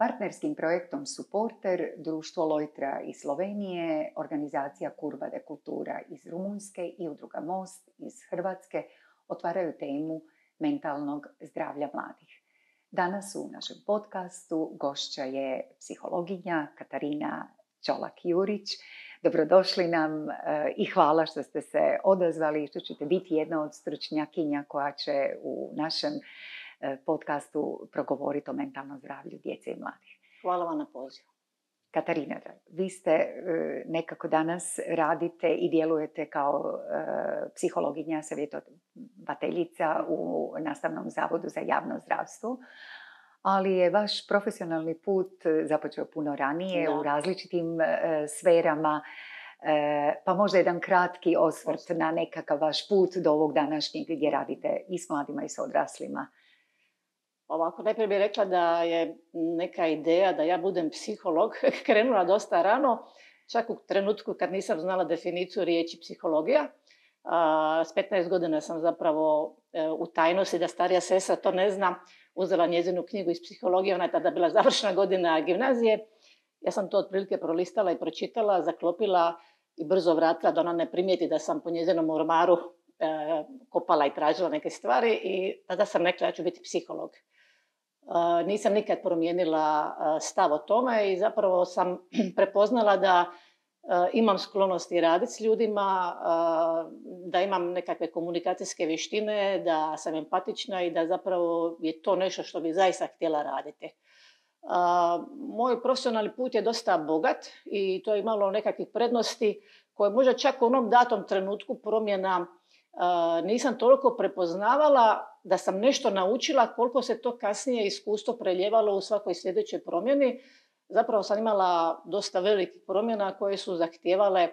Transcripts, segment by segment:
Partnerskim projektom Supporter, društvo Lojtra iz Slovenije, organizacija Curva de Cultura iz Rumunjske i udruga Most iz Hrvatske otvaraju temu mentalnog zdravlja mladih. Danas u našem podcastu gošća je psihologinja Katarina Čolak-Jurić. Dobrodošli nam i hvala što ste se odazvali i što ćete biti jedna od stručnjakinja koja će u našem podcastu progovoriti o mentalnom zdravlju djece i mladih. Hvala vam na pozivu. Katarina, vi ste nekako danas radite i djelujete kao psihologinja, savjetovateljica u Nastavnom zavodu za javno zdravstvo, ali je vaš profesionalni put započeo puno ranije u različitim sferama, pa možda jedan kratki osvrt na nekakav vaš put do ovog današnjeg gdje radite i s mladima i s odraslima. Ovako, najprije bih rekla da je neka ideja da ja budem psiholog krenula dosta rano, čak u trenutku kad nisam znala definiciju riječi psihologija. S 15 godina sam zapravo u tajnosti, da starija sestra to ne zna, uzela njezinu knjigu iz psihologije, ona je tada bila završna godina gimnazije. Ja sam to otprilike prolistala i pročitala, zaklopila i brzo vratila da ona ne primijeti da sam po njezinom ormaru kopala i tražila neke stvari i tada sam rekla ja ću biti psiholog. Nisam nikad promijenila stav o tome i zapravo sam prepoznala da imam sklonosti raditi s ljudima, da imam nekakve komunikacijske vještine, da sam empatična i da zapravo je to nešto što bi zaista htjela raditi. Moj profesionalni put je dosta bogat i to je imalo nekakvih prednosti koje možda čak u onom datom trenutku promjena nisam toliko prepoznavala da sam nešto naučila, koliko se to kasnije iskustvo preljevalo u svakoj sljedećoj promjeni. Zapravo sam imala dosta velikih promjena koje su zahtijevale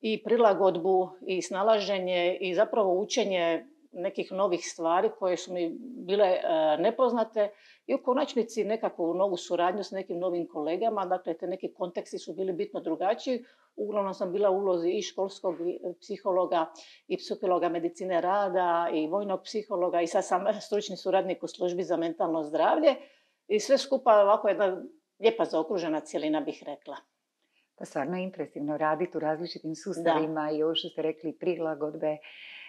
i prilagodbu i snalaženje i zapravo učenje nekih novih stvari koje su mi bile nepoznate i u konačnici nekakvu novu suradnju s nekim novim kolegama. Dakle, te neki konteksti su bili bitno drugačiji. Uglavnom sam bila u ulozi i školskog psihologa i psihologa medicine rada i vojnog psihologa i sad sam stručni suradnik u službi za mentalno zdravlje i sve skupa ovako jedna lijepa zaokružena cjelina bih rekla. Pa stvarno je impresivno raditi u različitim sustavima i ovo što ste rekli prilagodbe,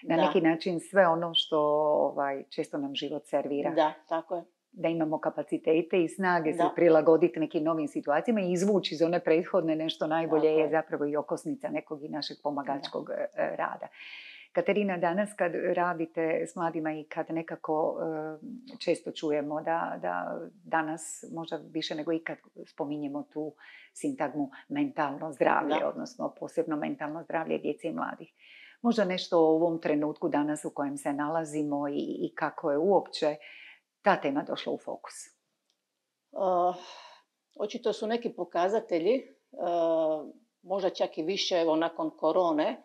na neki način sve ono što često nam život servira. Da, tako je. Da imamo kapacitete i snage se prilagoditi nekim novim situacijama i izvući iz one prethodne nešto najbolje je zapravo i okosnica nekog i našeg pomagačkog rada. Katarina, danas kad radite s mladima i kad nekako često čujemo da danas možda više nego ikad spominjemo tu sintagmu mentalno zdravlje, odnosno posebno mentalno zdravlje djece i mladih. Možda nešto o ovom trenutku danas u kojem se nalazimo i kako je uopće ta tema došla u fokus? Očito su neki pokazatelji, možda čak i više nakon korone,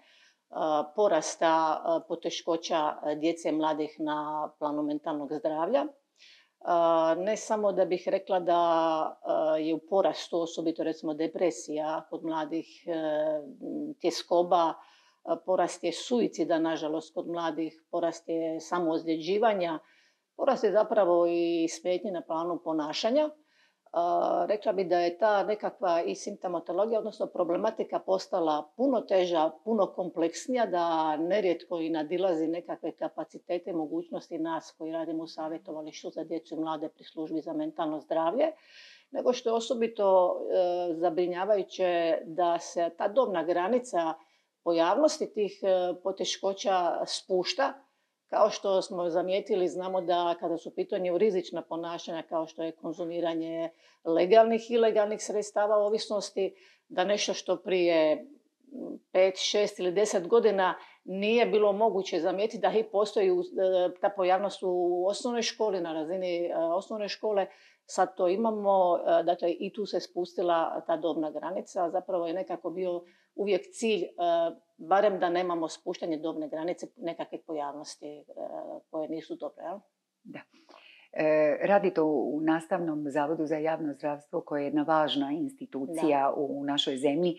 porasta poteškoća djece i mladih na planu mentalnog zdravlja. Ne samo da bih rekla da je u porastu osobito recimo depresija kod mladih, tjeskoba, porast je suicida nažalost kod mladih, porast je samoozljeđivanja, porast je zapravo i smetnje na planu ponašanja. Rekla bi da je ta nekakva i simptomatologija, odnosno problematika postala puno teža, puno kompleksnija, da nerijetko i nadilazi nekakve kapacitete i mogućnosti nas koji radimo u savjetovalištu za djecu i mlade pri službi za mentalno zdravlje, nego što je osobito zabrinjavajuće da se ta dobna granica pojavnosti tih poteškoća spušta. Kao što smo zamijetili, znamo da kada su u pitanju rizična ponašanja kao što je konzumiranje legalnih i ilegalnih sredstava ovisnosti, da nešto što prije 5, 6 ili 10 godina nije bilo moguće zamijetiti da i postoji ta pojavnost u osnovnoj školi, na razini osnovne škole, sad to imamo, dakle i tu se spustila ta dobna granica, zapravo je nekako bio uvijek cilj, barem da nemamo spuštanje dobne granice nekakve pojavnosti koje nisu dobre. Jel? Da. Radite u Nastavnom zavodu za javno zdravstvo koje je jedna važna institucija u našoj zemlji.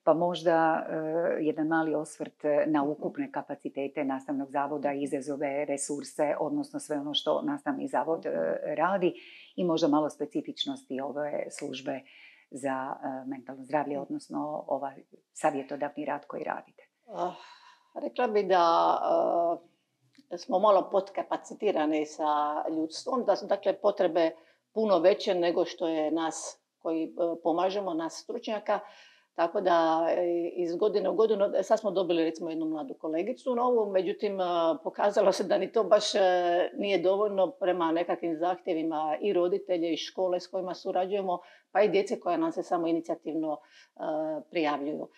Pa možda jedan mali osvrt na ukupne kapacitete nastavnog zavoda, izazove, resurse, odnosno sve ono što nastavni zavod radi i možda malo specifičnosti ove službe za mentalno zdravlje, odnosno ovaj savjetodavni rad koji radite. Rekla bi da smo malo podkapacitirani sa ljudstvom, da su dakle potrebe puno veće nego što je nas koji pomažemo, nas stručnjaka. Tako da iz godine u godinu, sad smo dobili recimo jednu mladu kolegicu novu, međutim pokazalo se da ni to baš nije dovoljno prema nekakvim zahtjevima i roditelje i škole s kojima surađujemo, pa i djece koja nam se samo inicijativno prijavljuju.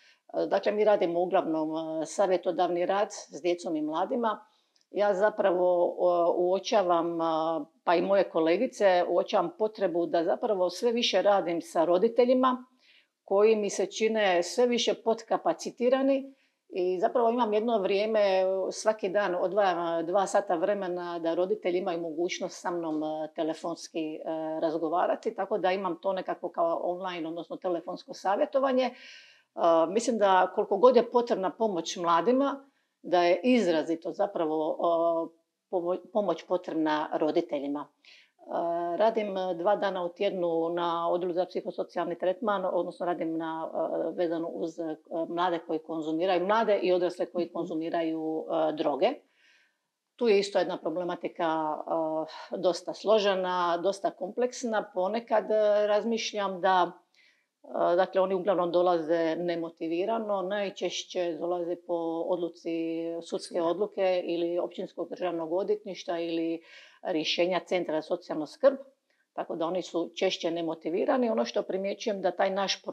Dakle, mi radimo uglavnom savjetodavni rad s djecom i mladima. Ja zapravo uočavam, pa i moje kolegice, uočavam potrebu da zapravo sve više radim sa roditeljima koji mi se čine sve više podkapacitirani i zapravo imam jedno vrijeme, svaki dan odvajam 2 sata vremena da roditelji imaju mogućnost sa mnom telefonski razgovarati, tako da imam to nekako kao online, odnosno telefonsko savjetovanje. Mislim da koliko god je potrebna pomoć mladima, da je izrazito zapravo pomoć potrebna roditeljima. Radim 2 dana u tjednu na odjelu za psihosocijalni tretman, odnosno radim vezano uz mlade koji konzumiraju, mlade i odrasle koji konzumiraju droge. Tu je isto jedna problematika dosta složena, dosta kompleksna. Ponekad razmišljam da dakle, oni uglavnom dolaze nemotivirano, najčešće dolaze po odluci sudske odluke ili općinskog državnog odvjetništva ili rješenja Centra za socijalnu skrb, tako da oni su češće nemotivirani. Ono što primjećujem da taj naš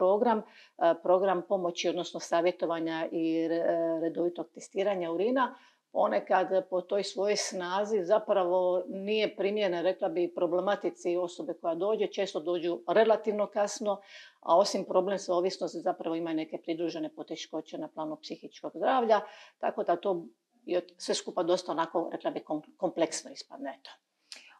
program pomoći, odnosno savjetovanja i redovitog testiranja urina, ponekad po toj svojoj snazi zapravo nije primjeren, rekla bi, problematici osobe koja dođe. Često dođu relativno kasno, a osim problem sa ovisnosti zapravo ima i neke pridružene poteškoće na planu psihičkog zdravlja, tako da to je sve skupa dosta onako, rekla bi, kompleksno ispadne.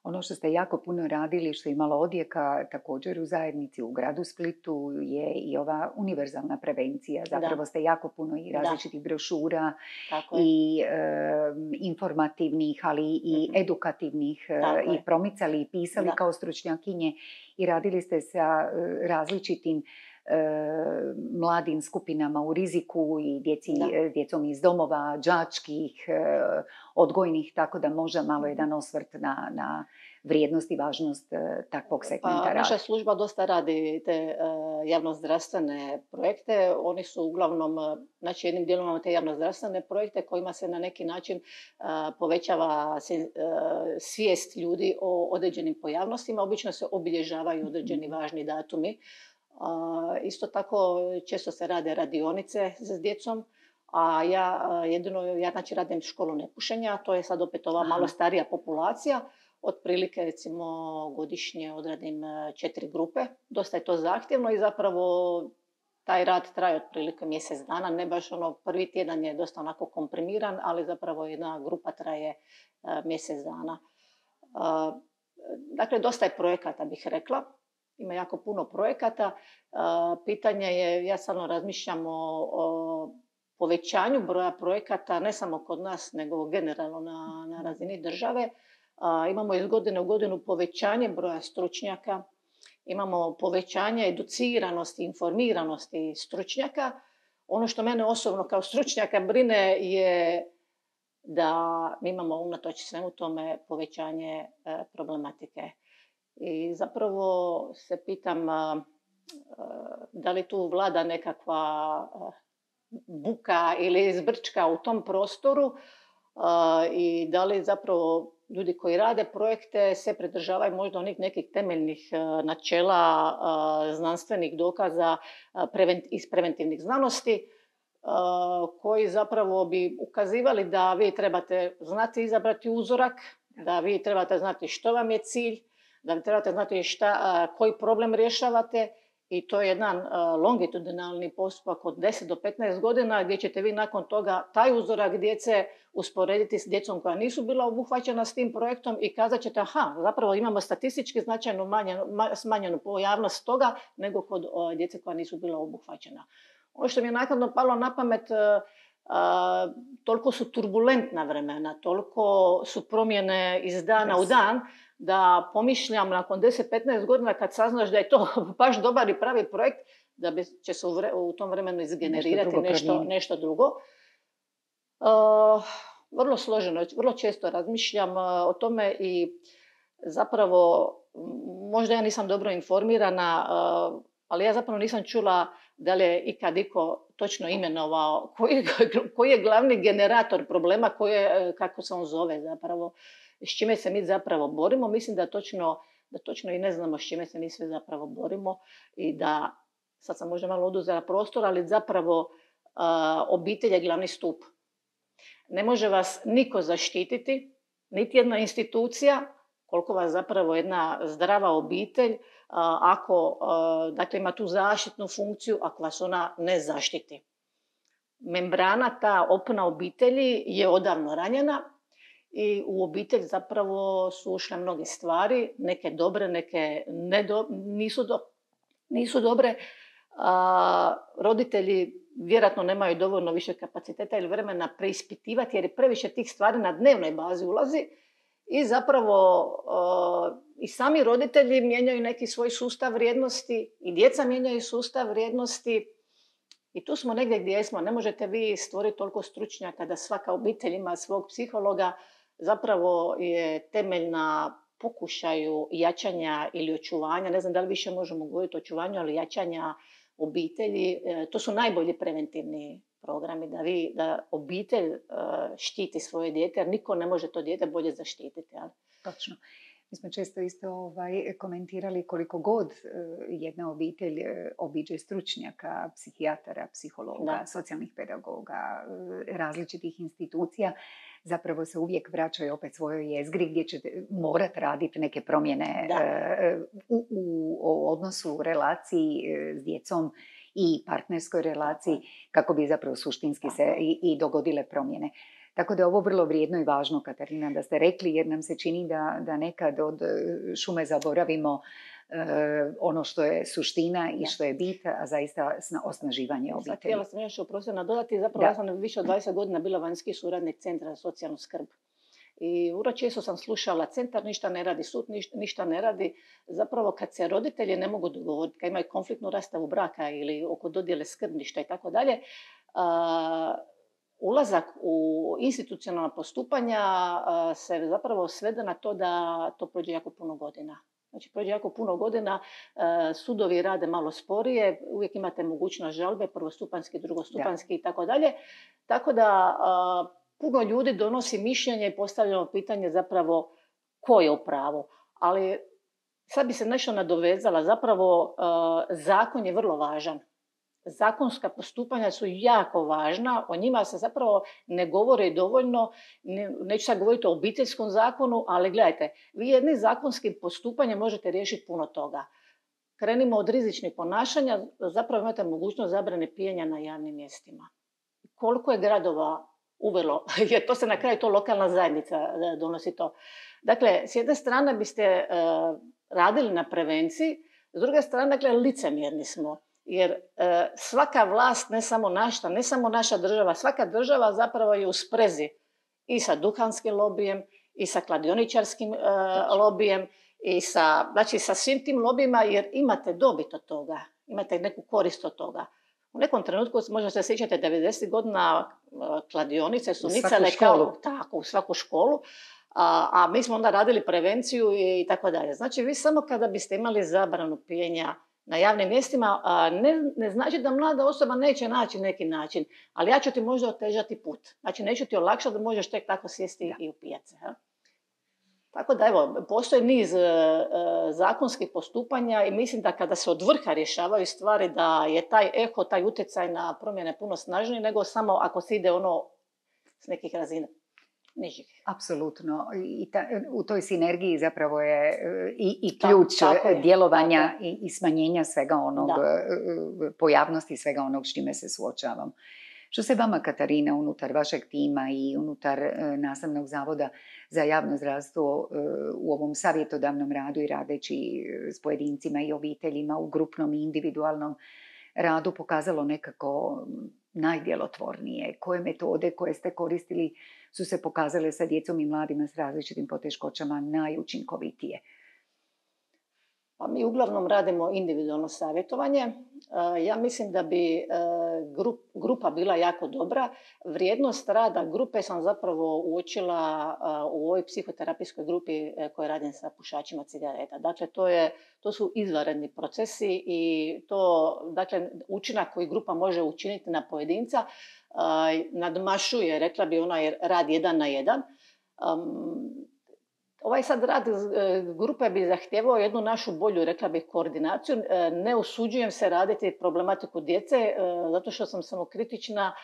Ono što ste jako puno radili, što je imalo odjeka također u zajednici, u gradu Splitu, je i ova univerzalna prevencija. Zapravo ste jako puno i različitih brošura i informativnih, ali i edukativnih i promicali i pisali kao stručnjakinje i radili ste sa različitim mladim skupinama u riziku i djecom iz domova, đačkih, odgojnih, tako da možda malo jedan osvrt na vrijednost i važnost takvog segmenta rada. Naša služba dosta radi te javnozdravstvene projekte. Oni su uglavnom, znači jednim dijelom imamo te javnozdravstvene projekte kojima se na neki način povećava svijest ljudi o određenim pojavnostima. Obično se obilježavaju određeni važni datumi. Isto tako često se rade radionice s djecom, a ja znači radim školu nepušenja, to je sad opet ova malo starija populacija. Otprilike recimo godišnje odradim 4 grupe, dosta je to zahtjevno i zapravo taj rad traje otprilike mjesec dana, ne baš prvi tjedan je dosta onako komprimiran, ali zapravo jedna grupa traje mjesec dana. Dakle, dosta je projekata, bih rekla. Ima jako puno projekata. Pitanje je, ja samo razmišljam o povećanju broja projekata, ne samo kod nas, nego generalno na razini države. Imamo iz godine u godinu povećanje broja stručnjaka, imamo povećanje educiranosti, informiranosti stručnjaka. Ono što mene osobno kao stručnjaka brine je da mi imamo unatoč svemu tome povećanje problematike. I zapravo se pitam da li tu vlada nekakva buka ili zbrčka u tom prostoru i da li zapravo ljudi koji rade projekte se pridržavaju možda onih nekih temeljnih načela znanstvenih dokaza iz preventivnih znanosti koji zapravo bi ukazivali da vi trebate znati izabrati uzorak, da vi trebate znati što vam je cilj, da vi trebate znati koji problem rješavate i to je jedan longitudinalni postupak od 10 do 15 godina gdje ćete vi nakon toga taj uzorak djece usporediti s djecom koja nisu bila obuhvaćena s tim projektom i kazat ćete zapravo imamo statistički značajno smanjenu pojavnost toga nego kod djece koja nisu bila obuhvaćena. Ono što mi je naknadno palo na pamet, toliko su turbulentna vremena, toliko su promjene iz dana u dan, da pomišljam nakon 10-15 godina kad saznaš da je to baš dobar i pravi projekt, da će se u tom vremenu izgenerirati nešto drugo. Vrlo složeno, vrlo često razmišljam o tome i zapravo možda ja nisam dobro informirana, ali ja zapravo nisam čula da li je ikad iko točno imenovao koji je glavni generator problema, kako se on zove zapravo, s čime se mi zapravo borimo. Mislim da točno i ne znamo s čime se mi sve zapravo borimo i da, sad sam možda malo oduzela prostor, ali zapravo obitelj je glavni stup. Ne može vas niko zaštititi, niti jedna institucija, koliko vas zapravo jedna zdrava obitelj, ako dakle, ima tu zaštitnu funkciju, ako vas ona ne zaštiti. Membrana, ta opna obitelji je odavno ranjena i u obitelj zapravo su ušle mnoge stvari, neke dobre, neke nisu dobre. Roditelji vjerojatno nemaju dovoljno više kapaciteta ili vremena preispitivati jer je previše tih stvari na dnevnoj bazi ulazi i zapravo i sami roditelji mijenjaju neki svoj sustav vrijednosti i djeca mijenjaju sustav vrijednosti i tu smo negdje gdje smo. Ne možete vi stvoriti toliko stručnjaka da svaka obitelj ima svog psihologa. Zapravo je temelj na pokušaju jačanja ili očuvanja, ne znam da li više možemo govoriti o očuvanju, ali jačanja obitelji. To su najbolji preventivni programi, da obitelj štiti svoje dijete, jer niko ne može to dijete bolje zaštititi. Ali. Točno. Mi smo često isto komentirali koliko god jedna obitelj obiđe stručnjaka, psihijatara, psihologa, socijalnih pedagoga, različitih institucija, zapravo se uvijek vraćaju opet svojoj jezgri gdje će morati raditi neke promjene u odnosu, u relaciji s djecom i partnerskoj relaciji kako bi zapravo suštinski se i dogodile promjene. Tako da je ovo vrlo vrijedno i važno, Katarina, da ste rekli, jer nam se čini da nekad od šume zaboravimo ono što je suština i što je bit, a zaista osnaživanje obitelji. Htjela sam još nadodati, zapravo ja sam više od 20 godina bila vanjski suradnik Centra za socijalnu skrb. I vrlo često sam slušala, centar ništa ne radi, sud ništa ne radi. Zapravo kad se roditelji ne mogu dogovoriti, kad imaju konfliktnu rastavu braka ili oko dodjele skrbništva i tako dalje, ulazak u institucionalna postupanja se zapravo svede na to da to prođe jako puno godina. Znači, prođe jako puno godina, sudovi rade malo sporije, uvijek imate mogućnost žalbe, prvostupanjski, drugostupanjski i tako dalje. Tako da puno ljudi donosi mišljenje i postavljamo pitanje zapravo ko je u pravu. Ali sad bi se nešto nadovezala, zapravo zakon je vrlo važan. Zakonska postupanja su jako važna, o njima se zapravo ne govori dovoljno, neću sad govoriti o obiteljskom zakonu, ali gledajte, vi jednim zakonskim postupanjem možete riješiti puno toga. Krenimo od rizičnih ponašanja, zapravo imate mogućnost zabrane pijenja na javnim mjestima. Koliko je gradova uvelo, jer to se na kraju to lokalna zajednica donosi to. Dakle, s jedne strane biste radili na prevenciji, s druge strane, dakle, licemjerni smo. Jer svaka vlast, ne samo naša država, svaka država zapravo je u sprezi i sa duhanskim lobijem, i sa kladioničarskim lobijem, i sa svim tim lobijima, jer imate dobit od toga, imate neku korist od toga. U nekom trenutku, možda se sjećate, 90 godina kladionice su nicale u svaku školu, a mi smo onda radili prevenciju i tako dalje. Znači, vi samo kada biste imali zabranu pijenja na javnim mjestima, ne znači da mlada osoba neće naći neki način, ali ja ću ti možda otežati put. Znači, neću ti olakšati da možeš tek tako sjesti i upijati se. Tako da, evo, postoji niz zakonskih postupanja i mislim da kada se od vrha rješavaju stvari, da je taj eho, taj utjecaj na promjene puno snažniji nego samo ako se ide s nekih razina nižih. Apsolutno. U toj sinergiji zapravo je i ključ djelovanja i smanjenja svega onog, pojavnosti svega onog s čime se suočavam. Što se vama, Katarina, unutar vašeg tima i unutar Nastavnog zavoda za javno zdravstvo u ovom savjetodavnom radu i radeći s pojedincima i obiteljima u grupnom i individualnom radu pokazalo nekako najdjelotvornije? Koje metode koje ste koristili su se pokazale sa djecom i mladima s različitim poteškoćama najučinkovitije? Pa mi uglavnom radimo individualno savjetovanje. Ja mislim da bi grupa bila jako dobra. Vrijednost rada grupe sam zapravo uočila u ovoj psihoterapijskoj grupi koja radim sa pušačima cigareta. Dakle, to su izvanredni procesi i dakle, učinak koji grupa može učiniti na pojedinca nadmašuje, rekla bi, onaj rad 1 na 1. Ovaj sad rad grupe bi zahtijevao jednu našu bolju, rekla bih, koordinaciju. Ne usuđujem se raditi problematiku djece, zato što sam samokritična.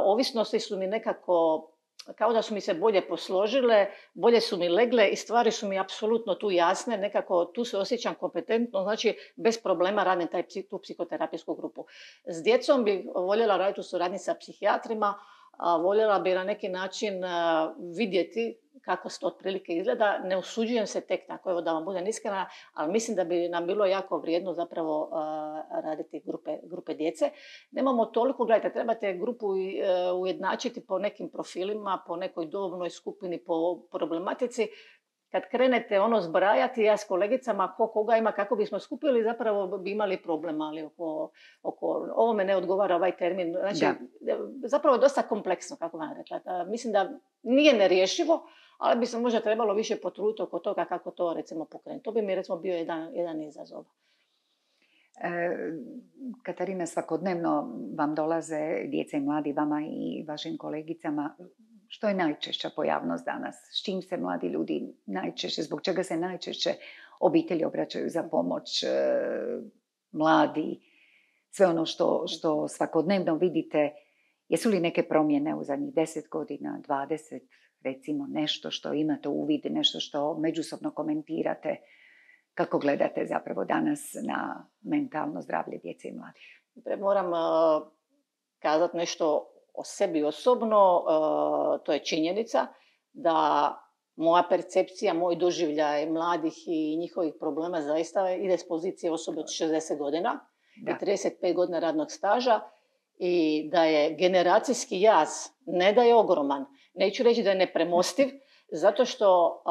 Ovisnosti su mi nekako, kao da su mi se bolje posložile, bolje su mi legle i stvari su mi apsolutno tu jasne. Nekako tu se osjećam kompetentno, znači bez problema radim tu psihoterapijsku grupu. S djecom bi voljela raditi u suradnji sa psihijatrima, voljela bi na neki način vidjeti kako se to otprilike izgleda. Ne usuđujem se tek tako, evo da vam budem iskrena, ali mislim da bi nam bilo jako vrijedno zapravo raditi grupe djece. Nemamo toliko, gledajte, trebate grupu ujednačiti po nekim profilima, po nekoj dobnoj skupini, po problematici. Kad krenete zbrajati, ja s kolegicama ko koga ima, kako bismo skupili, zapravo bi imali problem, ali oko ovo me ne odgovara ovaj termin. Znači, zapravo je dosta kompleksno, kako vam rekla. Mislim da nije nerješivo, ali bi se možda trebalo više potruditi oko toga kako to recimo pokrenuti. To bi mi recimo bio jedan izazov. Katarina, svakodnevno vam dolaze djeca i mladi, vama i vašim kolegicama. Što je najčešća pojavnost danas? S čim se mladi ljudi najčešće, zbog čega se najčešće obitelji obraćaju za pomoć, mladi, sve ono što svakodnevno vidite? Jesu li neke promjene u zadnjih 10 godina, 20, recimo nešto što imate uvid, nešto što međusobno komentirate? Kako gledate zapravo danas na mentalno zdravlje djece i mladih? Moram kazati nešto o sebi osobno. To je činjenica da moja percepcija, moj doživljaj mladih i njihovih problema zaista ide s pozicije osobe od 60 godina i 35 godina radnog staža i da je generacijski jaz, ne da je ogroman, neću reći da je nepremostiv, zato što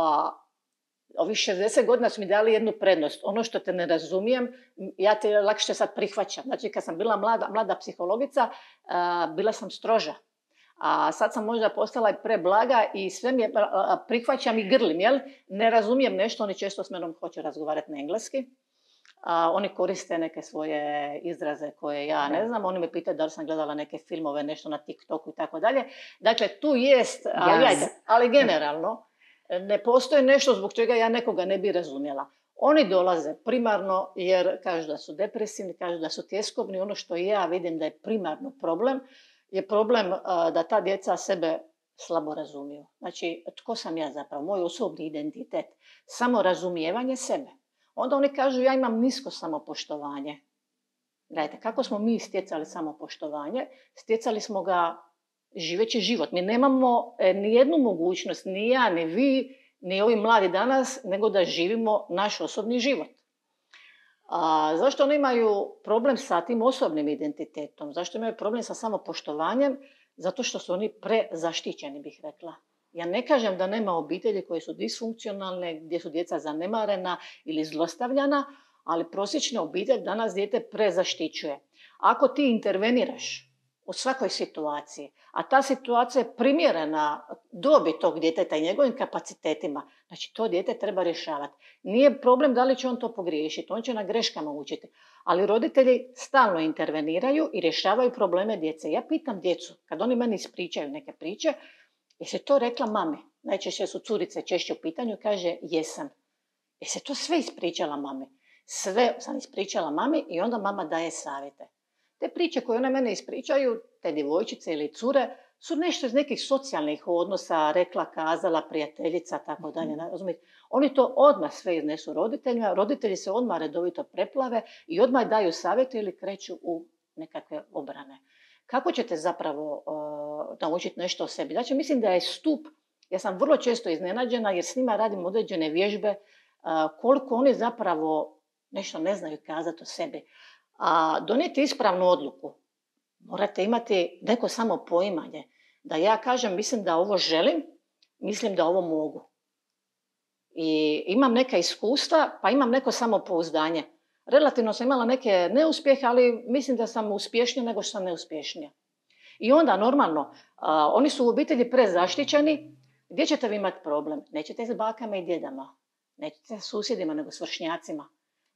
ovih 60 godina su mi dali jednu prednost. Ono što te ne razumijem, ja te lakše sad prihvaćam. Znači, kad sam bila mlada psihologica, bila sam stroža. A sad sam možda postala i preblaga i sve mi prihvaćam i grlim, jel? Ne razumijem nešto, oni često s menom hoće razgovarati na engleski. Oni koriste neke svoje izraze koje ja ne znam. Oni me pitaju da li sam gledala neke filmove, nešto na TikToku i tako dalje. Dakle, tu jest, ali generalno, ne postoji nešto zbog čega ja nekoga ne bi razumjela. Oni dolaze primarno jer kažu da su depresivni, kažu da su tjeskobni. Ono što ja vidim da je primarno problem, je problem da ta djeca sebe slabo razumiju. Znači, tko sam ja zapravo? Moj osobni identitet. Samo razumijevanje sebe. Onda oni kažu ja imam nisko samopoštovanje. Gledajte, kako smo mi stjecali samopoštovanje? Stjecali smo ga živeći život. Mi nemamo ni jednu mogućnost, ni ja, ni vi, ni ovi mladi danas, nego da živimo naš osobni život. Zašto oni imaju problem sa tim osobnim identitetom? Zašto imaju problem sa samopoštovanjem? Zato što su oni prezaštićeni, bih rekla. Ja ne kažem da nema obitelji koje su disfunkcionalne, gdje su djeca zanemarena ili zlostavljana, ali prosječna obitelj danas dijete prezaštićuje. Ako ti interveniraš u svakoj situaciji, a ta situacija je primjerena dobi tog djeteta i njegovim kapacitetima, znači to dijete treba rješavati. Nije problem da li će on to pogriješiti, on će na greškama učiti, ali roditelji stalno interveniraju i rješavaju probleme djece. Ja pitam djecu, kad oni meni ispričaju neke priče, jesi to rekla mami? Najčešće su curice češće u pitanju, kaže jesam. Jesi to sve ispričala mami? Sve sam ispričala mami i onda mama daje savjete. Te priče koje one mene ispričaju, te djevojčice ili cure, su nešto iz nekih socijalnih odnosa, rekla, kazala, prijateljica, tako dalje. Oni to odmah sve iznesu roditeljima, roditelji se odmah redovito preplave i odmah daju savjete ili kreću u nekakve obrane. Kako ćete zapravo naučiti nešto o sebi? Znači, mislim da je stup, ja sam vrlo često iznenađena jer s njima radim određene vježbe, koliko oni zapravo nešto ne znaju kazati o sebi. A donijeti ispravnu odluku morate imati neko samo poimanje. Da ja kažem, mislim da ovo želim, mislim da ovo mogu. I imam neka iskustva, pa imam neko samopouzdanje. Relativno sam imala neke neuspjehe, ali mislim da sam uspješnija nego što sam neuspješnija. I onda, normalno, oni su u obitelji prezaštićeni. Gdje ćete vi imati problem? Nećete s bakama i djedama, nećete s susjedima, nego s vršnjacima.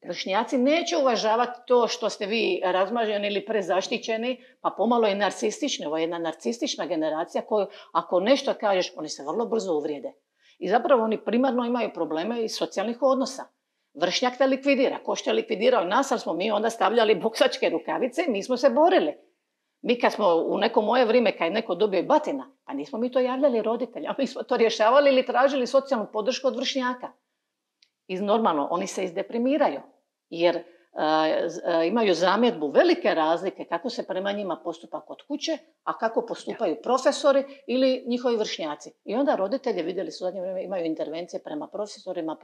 Vršnjaci neće uvažavati to što ste vi razmaženi ili prezaštićeni, pa pomalo i narcistični. Ovo je jedna narcistična generacija koju, ako nešto kažeš, oni se vrlo brzo uvrijede. I zapravo oni primarno imaju probleme iz socijalnih odnosa. Vršnjak te likvidira. Ko što je likvidirao nas, ali smo mi onda stavljali boksačke rukavice i mi smo se borili. Mi kad smo u neko moje vrijeme, kad je neko dobio i batina, pa nismo mi to javljali roditeljima, mi smo to rješavali ili tražili socijalnu podršku od vršnjaka. I normalno, oni se izdeprimiraju, jer imaju zamjedbu velike razlike kako se prema njima postupa kod kuće, a kako postupaju profesori ili njihovi vršnjaci. I onda roditelji, vidjeli su u zadnje vrijeme, imaju intervencije prema profesorima,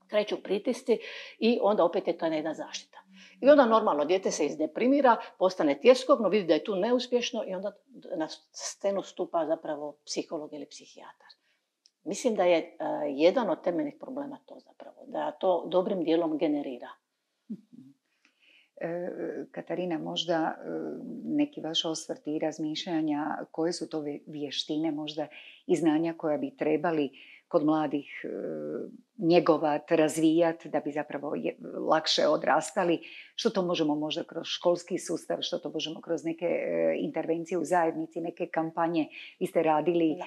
kreću pritisci i onda opet je to jedna zaštita. I onda normalno dijete se izdeprimira, postane tjeskobno, vidi da je tu neuspješno i onda na scenu stupa zapravo psiholog ili psihijatar. Mislim da je jedan od temeljnih problema to zapravo, da to dobrim dijelom generira. Katarina, možda neki vaš osvrt i razmišljanja, koje su to vještine možda i znanja koja bi trebali kod mladih njegovati, razvijati da bi zapravo lakše odrastali, što to možemo možda kroz školski sustav, što to možemo kroz neke intervencije u zajednici, neke kampanje. Vi ste radili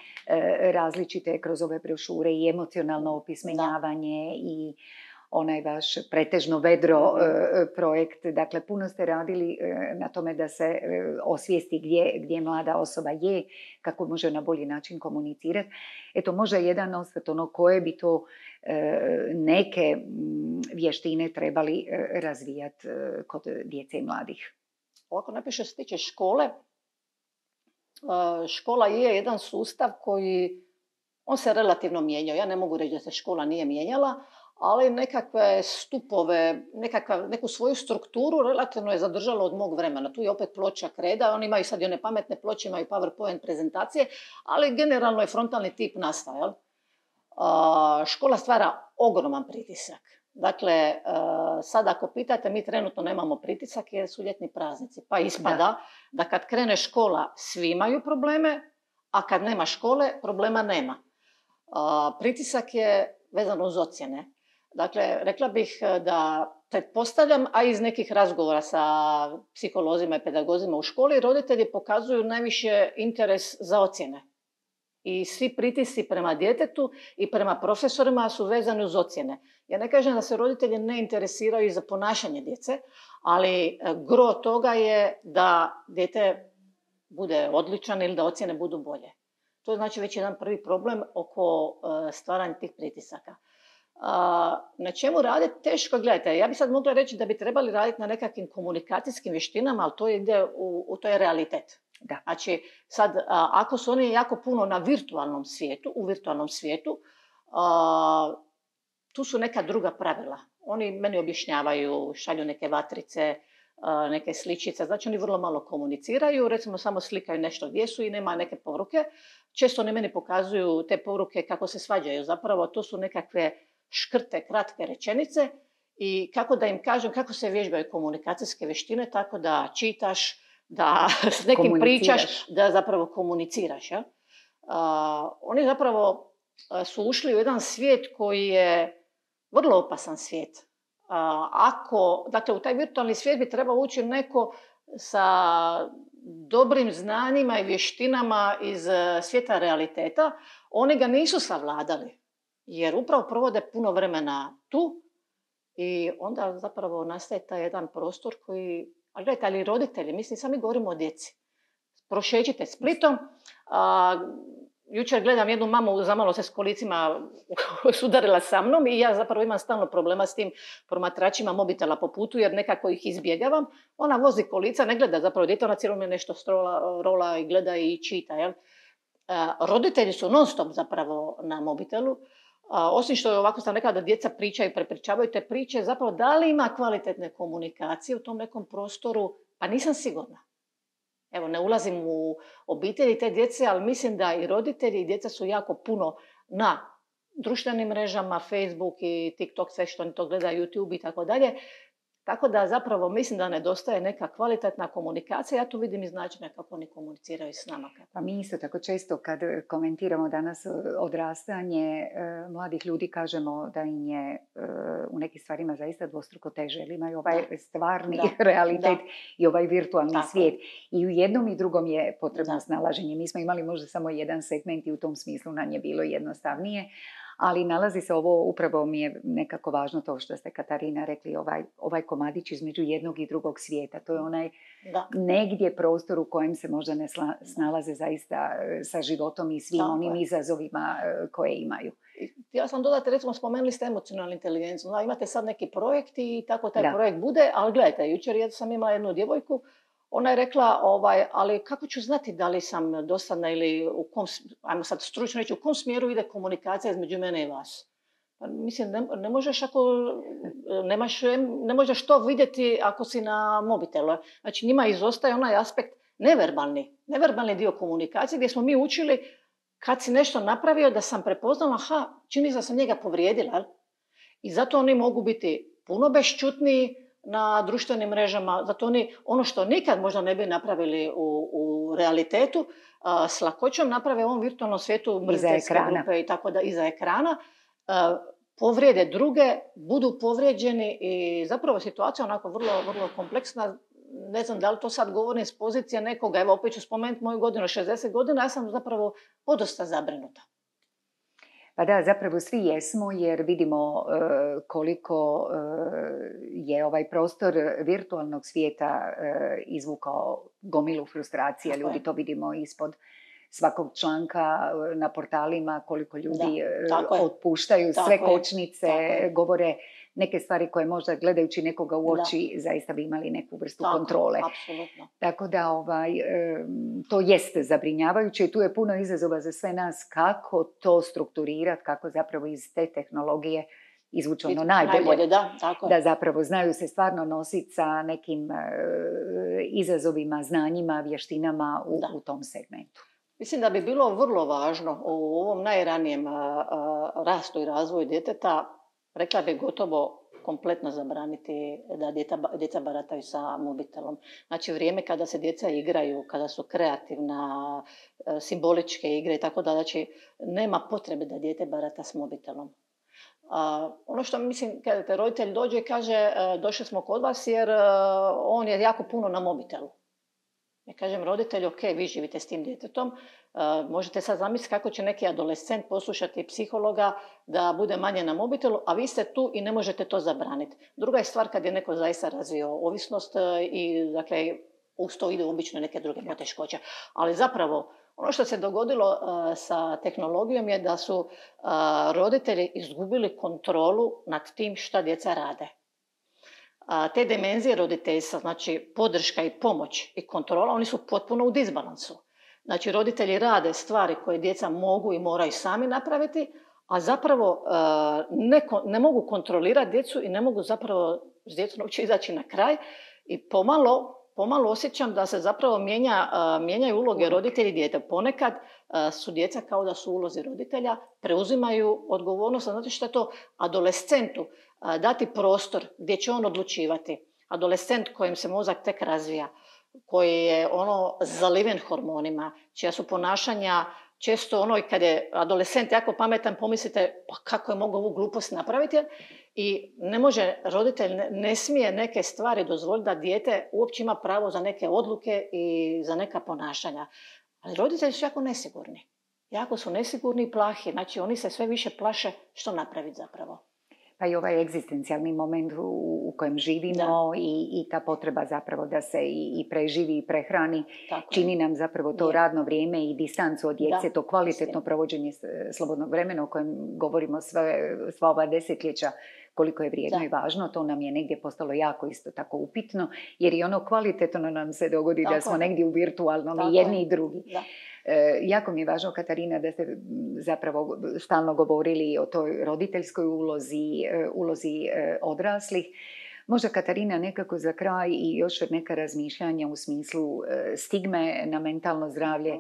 različite kroz ove brošure i emocionalno opismenjavanje i onaj vaš pretežno vedro projekt. Dakle, puno ste radili na tome da se osvijesti gdje mlada osoba je, kako može na bolji način komunicirati. Eto, možda jedan osvrt, koje bi to neke vještine trebali razvijati kod djece i mladih. Ovako najprije što se tiče škole, škola je jedan sustav koji, on se relativno mijenjao. Ja ne mogu reći da se škola nije mijenjala, ali nekakve stupove, neku svoju strukturu relativno je zadržalo od mog vremena. Tu je opet ploča kreda, oni imaju sad i one pametne ploče, imaju PowerPoint prezentacije, ali generalno je frontalni tip nastao. Škola stvara ogroman pritisak. Dakle, sad ako pitate, mi trenutno nemamo pritisak jer su ljetni praznici. Pa ispada da kad krene škola svi imaju probleme, a kad nema škole problema nema. Pritisak je vezan uz ocjene. Dakle, rekla bih da pretpostavljam, a iz nekih razgovora sa psiholozima i pedagozima u školi, roditelji pokazuju najviše interes za ocjene. I svi pritisci prema djetetu i prema profesorima su vezani uz ocjene. Ja ne kažem da se roditelji ne interesiraju za ponašanje djece, ali gro toga je da dijete bude odličan ili da ocjene budu bolje. To je znači već jedan prvi problem oko stvaranja tih pritisaka. Na čemu raditi? Teško, gledajte, ja bih sad mogla reći da bi trebali raditi na nekakvim komunikacijskim vještinama, ali to ide to je realitet. Da. Znači, sad, ako su oni jako puno na u virtualnom svijetu, tu su neka druga pravila. Oni meni objašnjavaju, šalju neke vatrice, neke sličice, znači oni vrlo malo komuniciraju, recimo samo slikaju nešto gdje su i nema neke poruke. Često oni meni pokazuju te poruke kako se svađaju, zapravo to su nekakve škrte, kratke rečenice i kako da im kažem, kako se vježbaju komunikacijske vještine, tako da čitaš, da s nekim pričaš, da zapravo komuniciraš. Ja? Oni zapravo su ušli u jedan svijet koji je vrlo opasan svijet. Dakle, u taj virtualni svijet bi trebao ući neko sa dobrim znanjima i vještinama iz svijeta realiteta. Oni ga nisu savladali, jer upravo provode puno vremena tu i onda zapravo nastaje taj jedan prostor koji, ali gledajte, ali roditelji, mislim, sami govorimo o djeci. Prošećite Splitom, jučer gledam jednu mamu, zamalo se s kolicima sudarila sa mnom i ja zapravo imam stalno problema s tim promatračima mobitela po putu jer nekako ih izbjegavam. Ona vozi kolica, ne gleda zapravo dijete, ona cijelo me nešto rola i gleda i čita. Jel? Roditelji su non stop zapravo na mobitelu. Osim što je ovako sam rekla da djeca pričaju, prepričavaju te priče, zapravo da li ima kvalitetne komunikacije u tom nekom prostoru, pa nisam sigurna. Evo, ne ulazim u obitelji te djece, ali mislim da i roditelji i djeca su jako puno na društvenim mrežama, Facebook i TikTok, sve što oni to gledaju, YouTube i tako dalje. Tako da zapravo mislim da nedostaje neka kvalitetna komunikacija. Ja tu vidim iz načina kako oni komuniciraju s nama. Pa mi isto tako često kad komentiramo danas odrastanje mladih ljudi kažemo da im je u nekim stvarima zaista dvostruko teže. Jer imaju ovaj stvarni realitet i ovaj virtualni svijet. I u jednom i drugom je potrebno snalaženje. Mi smo imali možda samo jedan segment i u tom smislu nam je bilo jednostavnije. Ali nalazi se ovo, upravo mi je nekako važno to što ste Katarina rekli, ovaj komadić između jednog i drugog svijeta. To je onaj negdje prostor u kojem se možda ne snalaze zaista sa životom i svim onim izazovima koje imaju. Ja sam dodati, recimo spomenuli ste emocionalnu inteligenciju. Imate sad neki projekt i tako taj projekt bude, ali gledajte, jučer sam imala jednu djevojku. Ona je rekla, ali kako ću znati da li sam dosadna ili u kom, ajmo sad stručno reći, u kom smjeru ide komunikacija između mene i vas? Pa, mislim, ne možeš ne možeš to vidjeti ako si na mobitelu. Znači, njima izostaje onaj aspekt neverbalni dio komunikacije gdje smo mi učili kad si nešto napravio da sam prepoznala, čini da sam njega povrijedila. I zato oni mogu biti puno bešćutniji na društvenim mrežama, zato oni ono što nikad možda ne bi napravili u realitetu, s lakoćom naprave u ovom virtualnom svijetu mrziteljske grupe i tako da iza ekrana, povrijede druge, budu povrijeđeni i zapravo situacija onako vrlo, vrlo kompleksna. Ne znam da li to sad govorim s pozicije nekoga, evo opet ću spomenuti moju godinu, 60 godina, ja sam zapravo podosta zabrinuta. Pa da, zapravo svi jesmo jer vidimo koliko je ovaj prostor virtualnog svijeta izvukao gomilu frustracije. Ljudi to vidimo ispod svakog članka na portalima, koliko ljudi otpuštaju sve kočnice, govore neke stvari koje možda gledajući nekoga u oči zaista bi imali neku vrstu kontrole. Apsolutno. Tako da to jeste zabrinjavajuće i tu je puno izazova za sve nas kako to strukturirati, kako zapravo iz te tehnologije izvući ono najbolje. Da zapravo znaju se stvarno nositi sa nekim izazovima, znanjima, vještinama u tom segmentu. Mislim da bi bilo vrlo važno u ovom najranijem rastu i razvoju djeteta, rekla bih gotovo kompletno zabraniti da djeca barataju sa mobitelom. Znači vrijeme kada se djeca igraju, kada su kreativna, simboličke igre i tako da, znači nema potrebe da dijete barata s mobitelom. Ono što mislim, kada roditelj dođe i kaže došli smo kod vas jer on je jako puno na mobitelu. Ja kažem roditelju, ok, vi živite s tim djetetom, možete sad zamisliti kako će neki adolescent poslušati psihologa da bude manje na mobitelu, a vi ste tu i ne možete to zabraniti. Druga je stvar kad je neko zaista razvio ovisnost i dakle uz to ide obično neke druge poteškoće. Ali zapravo ono što se dogodilo sa tehnologijom je da su roditelji izgubili kontrolu nad tim šta djeca rade. Te dimenzije roditeljstva, znači podrška i pomoć i kontrola, oni su potpuno u disbalansu. Znači roditelji rade stvari koje djeca mogu i moraju sami napraviti, a zapravo ne mogu kontrolirati djecu i ne mogu zapravo s djecom uopće izaći na kraj i pomalo osjećam da se zapravo mijenjaju uloge roditelji i dijete. Ponekad su djeca kao da su ulozi roditelja, preuzimaju odgovornost, znači što je to adolescentu dati prostor gdje će on odlučivati. Adolescent kojem se mozak tek razvija, koji je zaliven hormonima, čija su ponašanja često kad je adolescent jako pametan, pomislite pa kako je mogao ovu glupost napraviti i ne može, roditelj ne smije neke stvari dozvoliti da dijete uopće ima pravo za neke odluke i za neka ponašanja. Ali roditelji su jako nesigurni. Jako su nesigurni i plahi, znači oni se sve više plaše što napraviti zapravo. Pa i ovaj egzistencijalni moment u kojem živimo i ta potreba zapravo da se i preživi i prehrani čini nam zapravo to radno vrijeme i distancu od djece, to kvalitetno provođenje slobodnog vremena o kojem govorimo sva ova desetljeća koliko je vrijedno i važno, to nam je negdje postalo jako isto tako upitno, jer i ono kvalitetno nam se dogodi da smo negdje u virtualnom i jedni i drugi. Jako mi je važno, Katarina, da ste zapravo stalno govorili o toj roditeljskoj ulozi odraslih. Možda, Katarina, nekako za kraj i još neka razmišljanja u smislu stigme na mentalno zdravlje,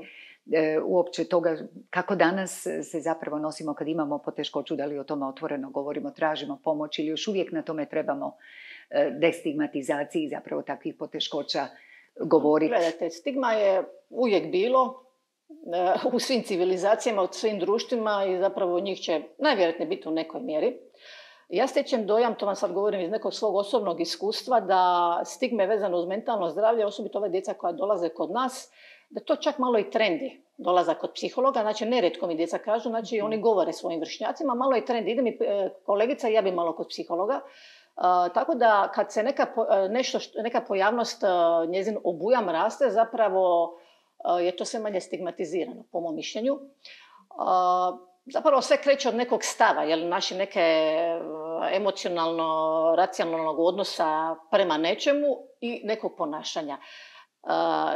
uopće toga kako danas se zapravo nosimo kad imamo poteškoću, da li o tome otvoreno govorimo, tražimo pomoć ili još uvijek na tome trebamo destigmatizaciji zapravo takvih poteškoća govoriti. Gledajte, stigma je uvijek bilo u svim civilizacijama, u svim društvima i zapravo njih će najvjerojatnije biti u nekoj mjeri. Ja stječem dojam, to vam sad govorim iz nekog svog osobnog iskustva, da stigme vezano uz mentalno zdravlje, osobito ove djeca koja dolaze kod nas, da to čak malo i trendi dolazak kod psihologa. Znači, nerijetko mi djeca kažu, znači oni govore svojim vršnjacima, malo je trendi, ide mi kolegica i ja bi malo kod psihologa. Tako da kad se neka pojavnost njezin obujam raste, zapravo je to sve manje stigmatizirano, po mom mišljenju. Zapravo sve kreće od nekog stava, naši neke emocionalno-racionalnog odnosa prema nečemu i nekog ponašanja.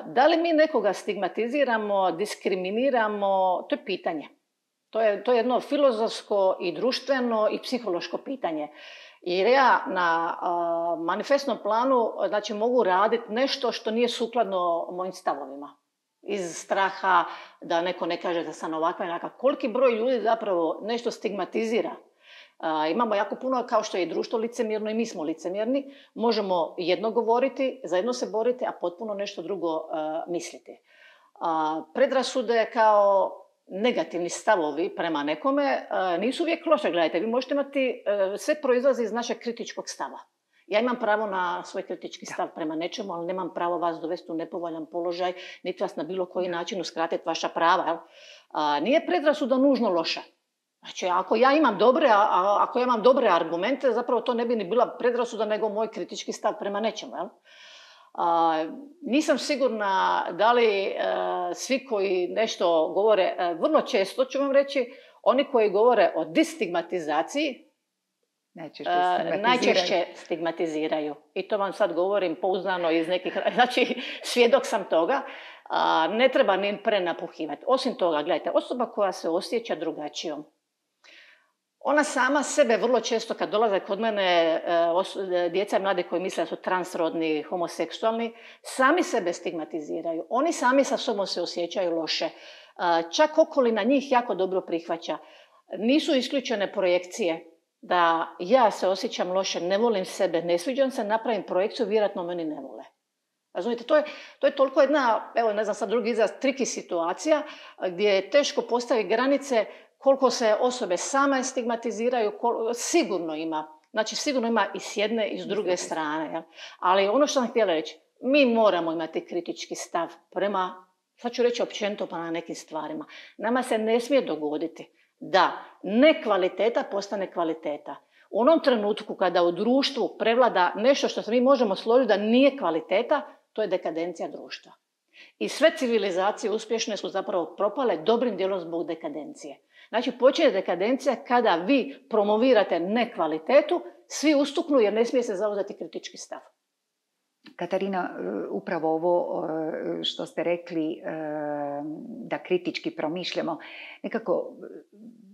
Da li mi nekoga stigmatiziramo, diskriminiramo, to je pitanje. To je jedno filozofsko i društveno i psihološko pitanje. Jer ja na manifestnom planu znači, mogu raditi nešto što nije sukladno mojim stavovima. Iz straha da neko ne kaže da sam ovakva i onakva. Koliki broj ljudi zapravo nešto stigmatizira. Imamo jako puno, kao što je društvo licemjerno i mi smo licemjerni. Možemo jedno govoriti, zajedno se boriti, a potpuno nešto drugo misliti. Predrasude kao negativni stavovi prema nekome nisu uvijek loše. Gledajte, vi možete imati, sve proizlazi iz našeg kritičkog stava. Ja imam pravo na svoj kritički stav prema nečemu, ali nemam pravo vas dovesti u nepovoljan položaj, niti vas na bilo koji način uskratiti vaša prava. Nije predrasuda nužno loša. Znači, ako ja imam dobre argumente, zapravo to ne bi ni bila predrasuda, nego moj kritički stav prema nečemu. Nisam sigurna da li svi koji nešto govore, vrlo često ću vam reći, oni koji govore o distigmatizaciji, najčešće stigmatiziraju. I to vam sad govorim pouzdano iz nekih... Znači, svjedok sam toga. Ne treba ni prenapuhivati. Osim toga, gledajte, osoba koja se osjeća drugačijom, ona sama sebe vrlo često kad dolaze kod mene djeca i mladi koji misle da su transrodni, homoseksualni, sami sebe stigmatiziraju. Oni sami sa sobom se osjećaju loše. Čak okolina njih jako dobro prihvaća. Nisu isključene projekcije da ja se osjećam loše, ne volim sebe, ne sviđam se, napravim projekciju, vjerojatno meni ne vole. Razumijete, to je toliko jedna, evo ne znam sad drugi izraz, triki situacija gdje je teško postaviti granice koliko se osobe same stigmatiziraju, sigurno ima. Znači sigurno ima i s jedne i s druge strane. Ja. Ali ono što sam htjela reći, mi moramo imati kritički stav prema, sad ću reći općenito pa na nekim stvarima. Nama se ne smije dogoditi da nekvaliteta postane kvaliteta. U onom trenutku kada u društvu prevlada nešto što se mi možemo složiti da nije kvaliteta, to je dekadencija društva. I sve civilizacije uspješne su zapravo propale dobrim dijelom zbog dekadencije. Znači, počinje dekadencija kada vi promovirate nekvalitetu, svi ustuknu jer ne smije se zauzeti kritički stav. Katarina, upravo ovo što ste rekli, da kritički promišljamo, nekako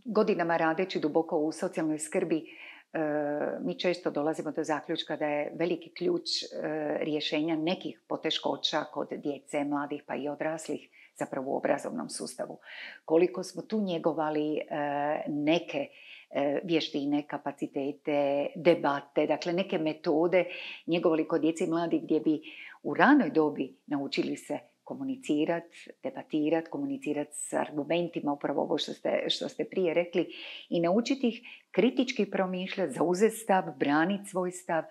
godinama radeći duboko u socijalnoj skrbi, mi često dolazimo do zaključka da je veliki ključ rješenja nekih poteškoća kod djece, mladih pa i odraslih zapravo u obrazovnom sustavu. Koliko smo tu njegovali neke vještine, kapacitete, debate, dakle neke metode njegovali kod djece i mladih gdje bi u ranoj dobi naučili se komunicirati, debatirati, komunicirati s argumentima, upravo ovo što ste prije rekli, i naučiti ih kritički promišljati, zauzeti stav, braniti svoj stav.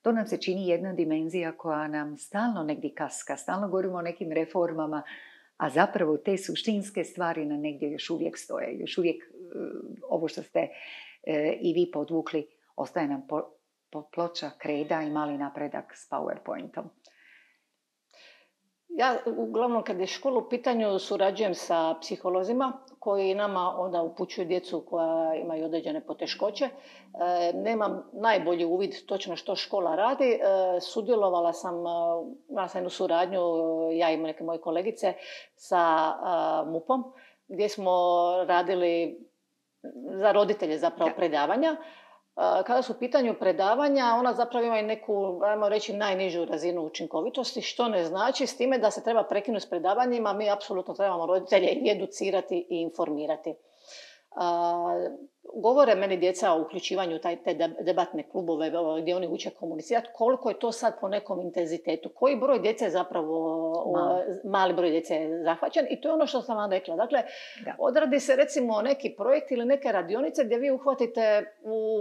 To nam se čini jedna dimenzija koja nam stalno negdje kaska, stalno govorimo o nekim reformama, a zapravo te suštinske stvari na negdje još uvijek stoje. Još uvijek ovo što ste i vi podvukli, ostaje nam ploča, kreda i mali napredak s PowerPointom. Ja uglavnom kad je škola u pitanju surađujem sa psiholozima koji nama onda upućuju djecu koja imaju određene poteškoće. Nemam najbolji uvid točno što škola radi. Sudjelovala sam, imala sam jednu suradnju, ja i neke moje kolegice, sa MUP-om gdje smo radili za roditelje zapravo predavanja. Kada su u pitanju predavanja, ona zapravo ima i neku, ajmo reći, najnižu razinu učinkovitosti, što ne znači s time da se treba prekinuti s predavanjima. Mi apsolutno trebamo roditelje i educirati i informirati. Govore meni djeca o uključivanju te debatne klubove gdje oni uče komunicirati, koliko je to sad po nekom intenzitetu, koji broj djece je zapravo, mali broj djece je zahvaćen i to je ono što sam vam rekla. Dakle, odradi se recimo neki projekt ili neke radionice gdje vi uhvatite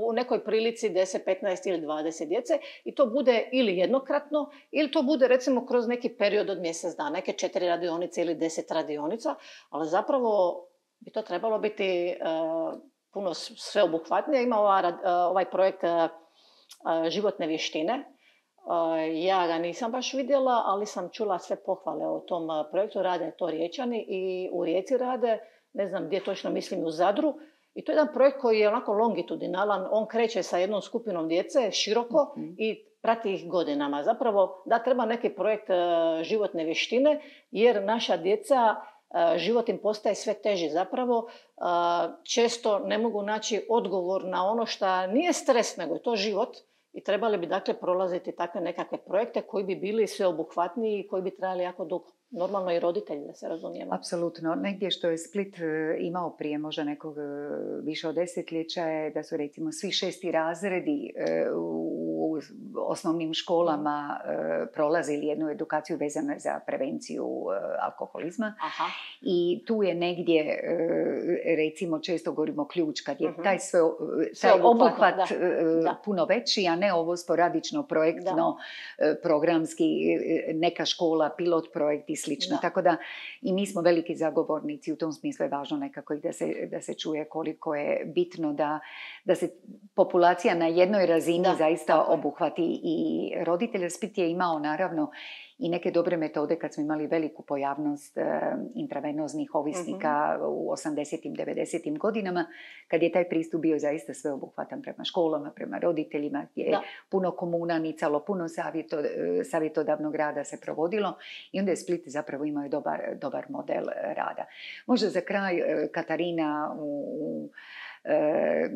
u nekoj prilici 10, 15 ili 20 djece i to bude ili jednokratno ili to bude recimo kroz neki period od mjesec dana, neke 4 radionice ili 10 radionica, ali zapravo bi to trebalo biti puno sveobuhvatnije. Ima ovaj projekt životne vještine. Ja ga nisam baš vidjela, ali sam čula sve pohvale o tom projektu. Rade to Riječani i u Rijeci rade, ne znam gdje točno, mislim u Zadru. I to je jedan projekt koji je onako longitudinalan. On kreće sa jednom skupinom djece široko i prati ih godinama. Zapravo da treba neki projekt životne vještine jer naša djeca, život im postaje sve teži. Zapravo često ne mogu naći odgovor na ono što nije stres, nego je to život i trebali bi dakle prolaziti takve nekakve projekte koji bi bili sveobuhvatniji i koji bi trajali jako dugo. Normalno i roditelji, da se razumijemo. Apsolutno. Negdje što je Split imao prije možda nekog više od desetljeća je da su recimo svi 6. razredi u osnovnim školama prolazili jednu edukaciju vezanu za prevenciju alkoholizma. Aha. I tu je negdje recimo često govorimo ključ kad je taj obuhvat puno veći, a ne ovo sporadično projektno, programski, neka škola, pilot projekt i slično. Tako da i mi smo veliki zagovornici, u tom smislu je važno nekako i da se čuje koliko je bitno da se populacija na jednoj razini zaista obuhvati i roditelja. Split je imao naravno i neke dobre metode kad smo imali veliku pojavnost intravenoznih ovisnika u 80-im, 90-im godinama, kad je taj pristup bio zaista sveobuhvatan prema školama, prema roditeljima, gdje je puno komuna nicalo, puno savjetodavnog rada se provodilo i onda je Split zapravo imao dobar model rada. Možda za kraj, Katarina,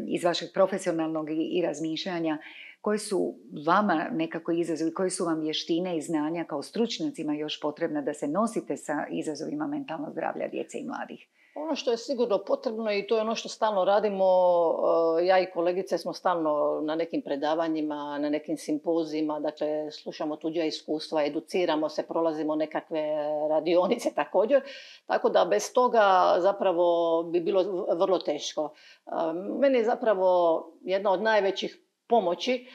iz vašeg profesionalnog i razmišljanja, koji su vama nekako izazovi, koji su vam vještine i znanja kao stručnjacima još potrebna da se nosite sa izazovima mentalnog zdravlja djece i mladih? Ono što je sigurno potrebno i to je ono što stalno radimo, ja i kolegice smo stalno na nekim predavanjima, na nekim simpozijima, dakle slušamo tuđa iskustva, educiramo se, prolazimo nekakve radionice također, tako da bez toga zapravo bi bilo vrlo teško. Meni je zapravo jedna od najvećih pomoći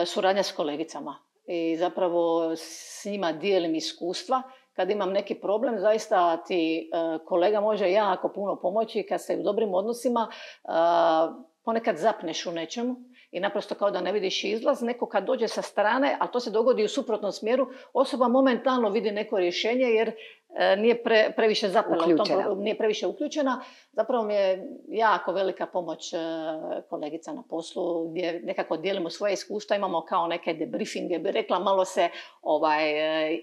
suradnja s kolegicama i zapravo s njima dijelim iskustva. Kad imam neki problem, zaista ti kolega može jako puno pomoći kad ste u dobrim odnosima. Ponekad zapneš u nečemu i naprosto kao da ne vidiš izlaz. Neko kad dođe sa strane, a to se dogodi u suprotnom smjeru, osoba momentalno vidi neko rješenje jer nije previše zapela u tom problemu, nije previše uključena. Zapravo mi je jako velika pomoć kolegica na poslu gdje nekako dijelimo svoje iskustva, imamo kao neke debriefinge, bi rekla, malo se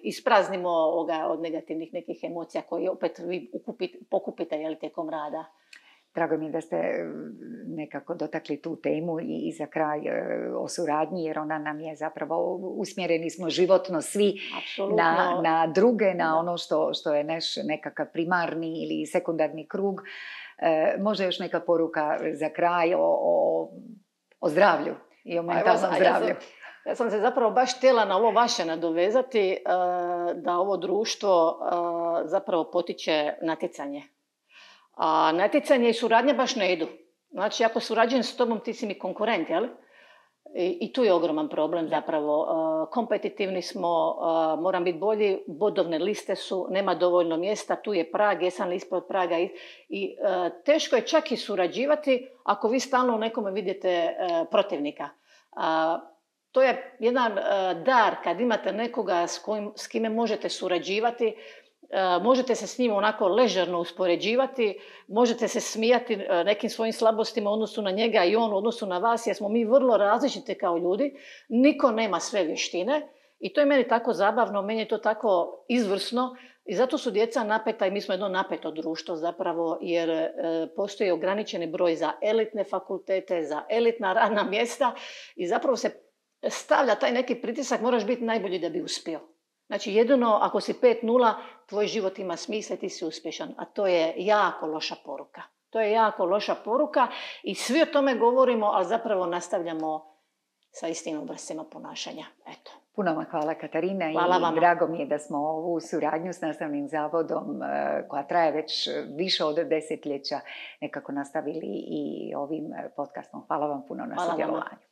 ispraznimo od negativnih nekih emocija koje opet vi pokupite tijekom rada. Drago mi je da ste nekako dotakli tu temu i za kraj o suradnji, jer ona nam je zapravo, usmjereni smo životno svi na druge, na ono što je naš nekakav primarni ili sekundarni krug. Možda još neka poruka za kraj o zdravlju i o mentalnom zdravlju. Ja sam se zapravo baš htjela na ovo vaše nadovezati, da ovo društvo zapravo potiče natjecanje. A natjecanje i suradnja baš ne idu. Znači, ako surađujem s tobom, ti si mi konkurent, jel? I tu je ogroman problem zapravo. Kompetitivni smo, moram biti bolji, bodovne liste su, nema dovoljno mjesta, tu je prag, jesam li ispod praga. I teško je čak i surađivati ako vi stalno u nekome vidite protivnika. to je jedan dar kad imate nekoga s kime možete surađivati, možete se s njim onako ležerno uspoređivati, možete se smijati nekim svojim slabostima u odnosu na njega i on u odnosu na vas, jer smo mi vrlo različite kao ljudi, niko nema sve vještine i to je meni tako zabavno, meni je to tako izvrsno i zato su djeca napeta i mi smo jedno napeto društvo zapravo, jer postoji ograničeni broj za elitne fakultete, za elitna radna mjesta i zapravo se stavlja taj neki pritisak, moraš biti najbolji da bi uspio. Znači jedino ako si 5:0, tvoj život ima smisla i ti si uspješan, a to je jako loša poruka. To je jako loša poruka i svi o tome govorimo, ali zapravo nastavljamo sa istim obrascima ponašanja. Eto. Puno vam hvala, Katarina. Hvala vama. I drago mi je da smo ovu suradnju s Nastavnim zavodom, koja traje već više od desetljeća, nekako nastavili i ovim podcastom. Hvala vam puno na sudjelovanju.